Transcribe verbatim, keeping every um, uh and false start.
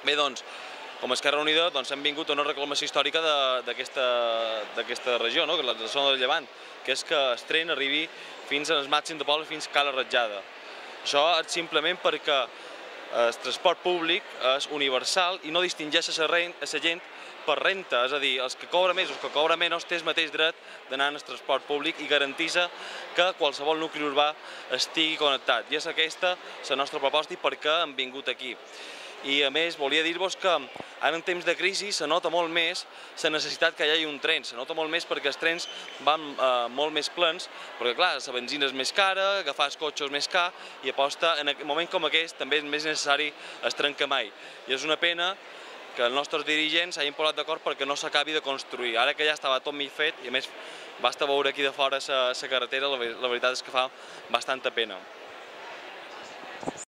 Bé, doncs, com a Esquerra Unida hem vingut a una reclamació històrica d'aquesta regió, de la zona del Llevant, que és que el tren arribi fins al màxim de pobles, fins a Cala Ratjada. Això és simplement perquè el transport públic és universal i no distingeix a la gent per renta, és a dir, els que cobra més o els que cobra menys té el mateix dret d'anar en el transport públic i garanteix que qualsevol nucli urbà estigui connectat. I és aquesta la nostra proposta i per què hem vingut aquí. I a més volia dir-vos que ara en temps de crisi se nota molt més la necessitat que hi hagi un tren, se nota molt més perquè els trens van molt més plens, perquè clar, la benzina és més cara, agafar els cotxes més car i aposta en un moment com aquest també és més necessari el tren que mai. I és una pena que els nostres dirigents s'hagin posat d'acord perquè no s'acabi de construir, ara que ja estava tot mig fet i a més basta veure aquí de fora la carretera, la veritat és que fa bastanta pena.